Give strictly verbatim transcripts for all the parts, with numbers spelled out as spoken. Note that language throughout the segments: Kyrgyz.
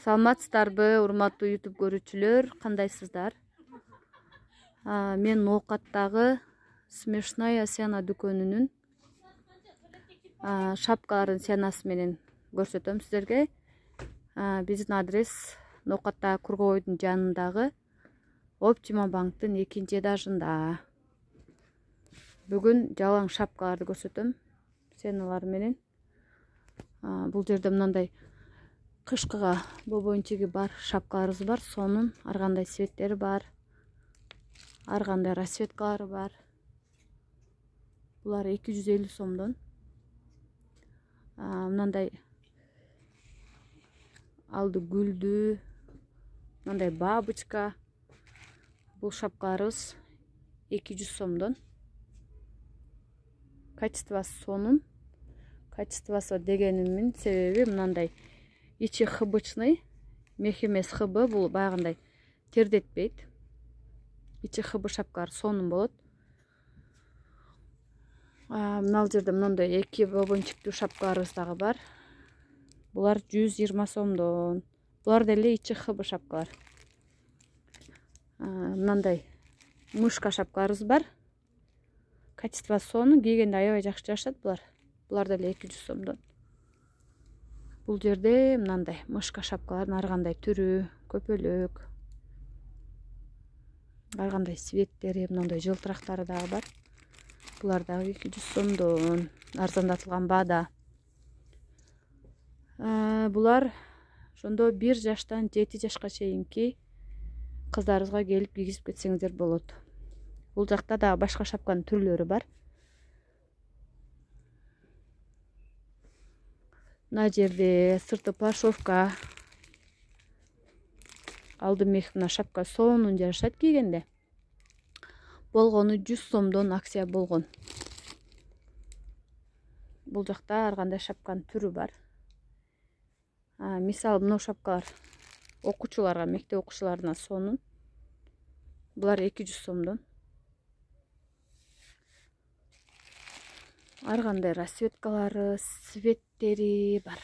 Саламатсыздарбы, урматтуу YouTube көрүүчүлөр, кандайсыздар? Мен Ноокаттагы Смешная сена дүкөнүнүн шапкалардын сенасы менен көрсөтөм сиздерге. Биздин адрес Ноокаттагы Кургобойдун жанындагы Оптима банктын экинчи этажында. Бүгүн жалаң шапкаларды көрсөтөм сеналар менен. Бул жерде мындай кышкыга бобойнчиги бар шапкаларыбыз бар. Сонун ар кандай цветтери бар. Ар кандай расцветкалары бар. Булар эки жүз элүү сомдон. Мындай алды гүлдүү, мындай бабочка. Бул шапкаларыбыз эки жүз сомдон. Качествосы сонун. Качествосы дегенимин себеби мындай ичи хыбычный, мех эмес хыбы, бул баягындай тердетпейт. Ичи хыбы шапкалар сонун болот. Мына жерде мындай эки бобончиктүү шапкаларыбыз дагы бар. Булар жүз жыйырма сомдон. Булар деле ичи хыбы шапкалар. Мындай мышка шапкаларыбыз бар. Качествосы сонун, кийгенде аябай жакшы жашат булар. Булар деле эки жүз сомдон. Бул жерде мындай мышка шапкалардын ар кандай түрү, көпөлөк, ар кандай цветтери, мындай жылтырактары дагы бар. Булар дагы эки жүз сомдон. Арзандатылган баада. Булар ошондо бир жаштан жети жашка чейинки кыздарыбызга келип кийгизип кетсеңиздер болот. Бул жакта дагы башка шапканын түрлөрү бар. Мына жерде сырты пошовка, алды мех, мына шапка сонун жашат кийгенде. Болгону жүз сомдон акция болгон. Бул жакта ар кандай шапканын түрү бар. Мисалы мына шапкалар окуучуларга, мектеп окуучуларына сонун. Булар эки жүз сомдон. Ар кандай расцветкалары, цветтери бар.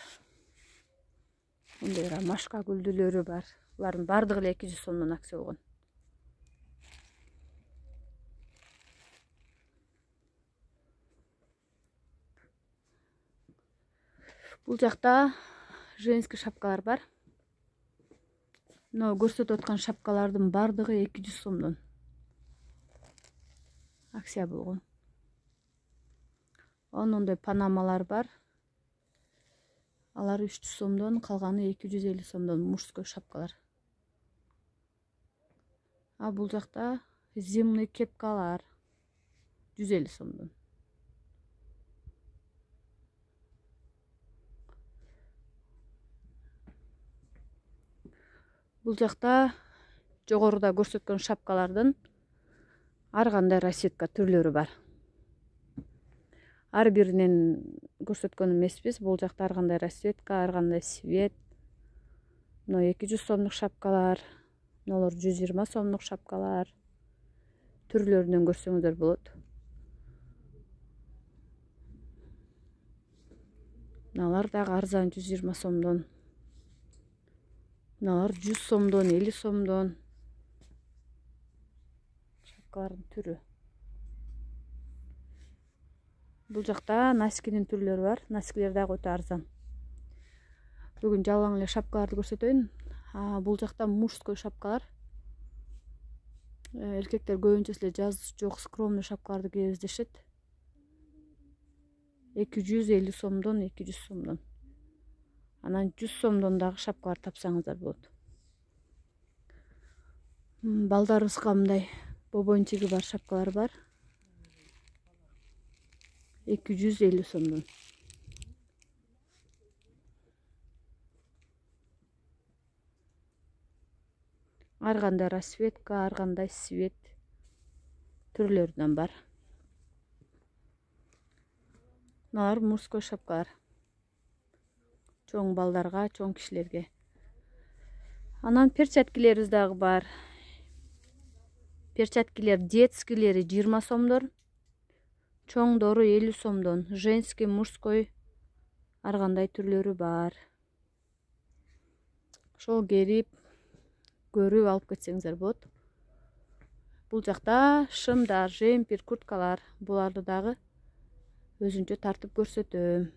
Мындай ромашка гүлдүүлөрү бар. Булардын бардыгы эле эки жүз сомдон акция болгон. Бул жакта женский шапкалар бар. Мына көрсөтүп аткан шапкалардын бардыгы эки жүз сомдон акция болгон. Ондой панамалар бар. Алар үч жүз сомдон, калганы эки жүз элүү сомдон мужской шапкалар. А бул жакта зимний кепкалар жүз элүү сомдон. Бул жакта жогоруда көрсөткөн шапкалардын ар кандай расцветка түрлөрү бар. Ар биринен көрсөткөн эмеспиз. Бул жакта ар кандай расцветка, ар кандай цвет. Мына эки жүз сомдук шапкалар, мыналар жүз жыйырма сомдук шапкалар. Түрлөрүнөн көрсөңүздөр болот. Мыналар дагы арзан, жүз жыйырма сомдон. Мыналар жүз сомдон, элүү сомдон. Шапкалардын түрү. Бул жакта носкинин түрлөрү бар. Носкилер дагы өтө арзан. Бүгүн жалаң эле шапкаларды көрсөтөйүн. Бул жакта мужской шапкалар. Эркектер көбүнчө эле жаз жок скромный шапкаларды кийебиз дешет. эки жүз элүү сомдон, эки жүз сомдон. Анан жүз сомдон дагы шапкалар тапсаңыздар болот. Балдарыбызга мындай бобойнчиги бар шапкалар бар. эки жүз элүү сомдон. Ар кандай расцветка, ар кандай цвет түрлөрүнөн бар. Мыналар мужской шапкалар. Чоң балдарга, чоң кишилерге. Анан перчаткилерибиз дагы бар. Перчаткилер детскийлери жыйырма сомдон. Чоңдору элүү сомдон. Женский, мужской ар кандай түрлөрү бар. ошол керип көрүп алып кетсеңиздер болот. Бул жакта шымдар, жемпир, курткалар, буларды дагы өзүнчө тартып көрсөтөм.